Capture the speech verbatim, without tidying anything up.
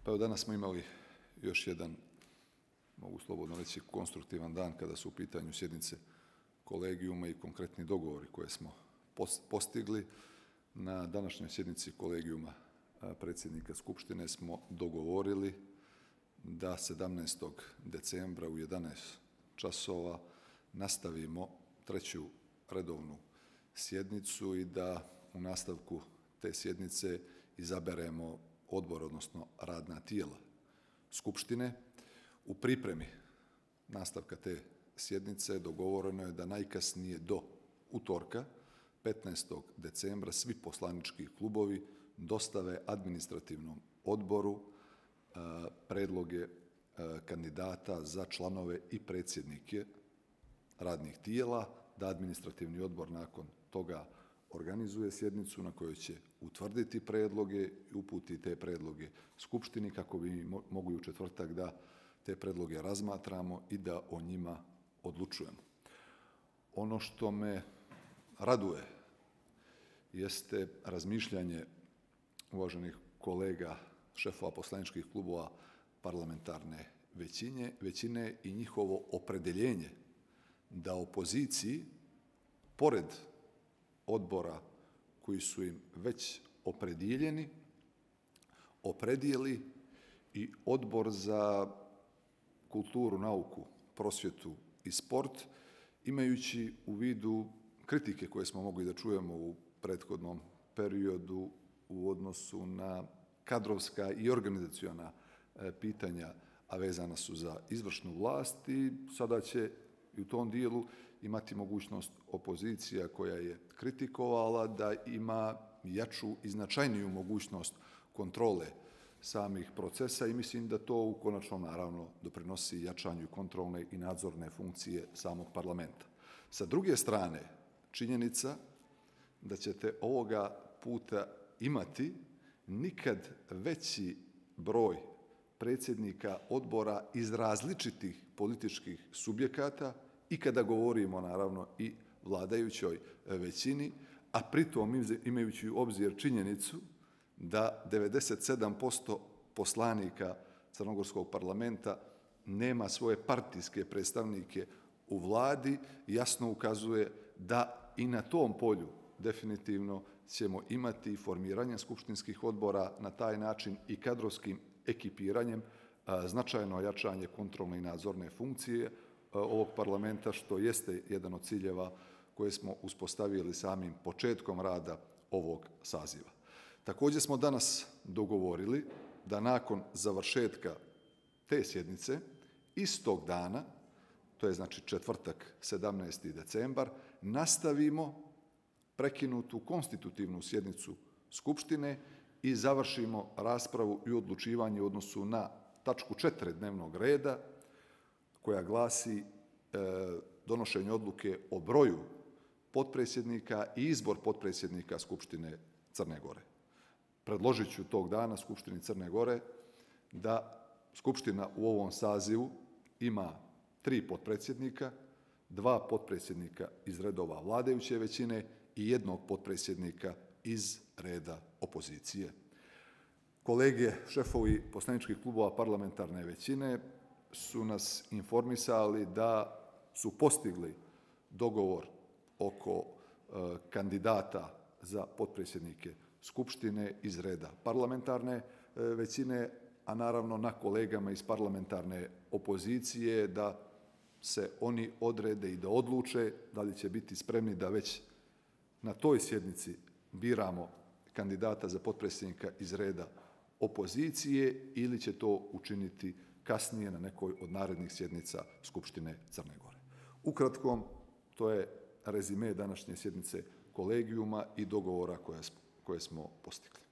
Pa evo danas smo imali još jedan, mogu slobodno reći, konstruktivan dan kada su u pitanju sjednice kolegijuma i konkretni dogovori koje smo postigli. Na današnjoj sjednici kolegijuma predsjednika Skupštine smo dogovorili da sedamnaestog decembra u jedanaest časova nastavimo treću redovnu sjednicu i da u nastavku te sjednice izaberemo odbor, odnosno radna tijela Skupštine. U pripremi nastavka te sjednice dogovoreno je da najkasnije do utorka, petnaestog decembra, svi poslanički klubovi dostave administrativnom odboru predloge kandidata za članove i predsjednike radnih tijela, da administrativni odbor nakon toga organizuje sjednicu na kojoj će utvrditi predloge i uputiti te predloge Skupštini kako bi mogli u četvrtak da te predloge razmatramo i da o njima odlučujemo. Ono što me raduje jeste razmišljanje uvaženih kolega, šefova poslaničkih klubova parlamentarne većine, većine i njihovo opredjeljenje da opoziciji, pored odbora koji su im već opredijeljeni, opredijeli i odbor za kulturu, nauku, prosvjetu i sport, imajući u vidu kritike koje smo mogli da čujemo u prethodnom periodu u odnosu na kadrovska i organizaciona pitanja, a vezana su za izvršnu vlast, i sada će i u tom dijelu imati mogućnost opozicija koja je kritikovala da ima jaču i značajniju mogućnost kontrole samih procesa, i mislim da to u konačnom naravno doprinosi jačanju kontrolne i nadzorne funkcije samog parlamenta. Sa druge strane, činjenica da ćete ovoga puta imati nikad veći broj predsjednika odbora iz različitih političkih subjekata i kada govorimo naravno i vladajućoj većini, a pritom imajući u obzir činjenicu da devedeset sedam posto poslanika crnogorskog parlamenta nema svoje partijske predstavnike u vladi, jasno ukazuje da i na tom polju definitivno ćemo imati formiranje skupštinskih odbora na taj način i kadrovskim ekipiranjem značajno jačanje kontrolne i nadzorne funkcije ovog parlamenta, što jeste jedan od ciljeva koje smo uspostavili samim početkom rada ovog saziva. Također smo danas dogovorili da nakon završetka te sjednice, istog dana, to je znači četvrtak sedamnaesti decembar, nastavimo prekinutu konstitutivnu sjednicu Skupštine i završimo raspravu i odlučivanje u odnosu na tačku četiri dnevnog reda koja glasi e, donošenje odluke o broju potpredsjednika i izbor potpredsjednika Skupštine Crne Gore. Predložit ću tog dana Skupštini Crne Gore da Skupština u ovom sazivu ima tri potpredsjednika, dva potpredsjednika iz redova vladajuće većine i jednog potpredsjednika iz reda opozicije. Kolege, šefovi poslaničkih klubova parlamentarne većine su nas informisali da su postigli dogovor oko e, kandidata za potpredsjednike Skupštine iz reda parlamentarne e, većine, a naravno na kolegama iz parlamentarne opozicije da se oni odrede i da odluče da li će biti spremni da već na toj sjednici biramo kandidata za potpredsjednika iz reda opozicije ili će to učiniti kasnije na nekoj od narednih sjednica Skupštine Crne Gore. Ukratko, to je rezime današnje sjednice kolegijuma i dogovora koje smo postigli.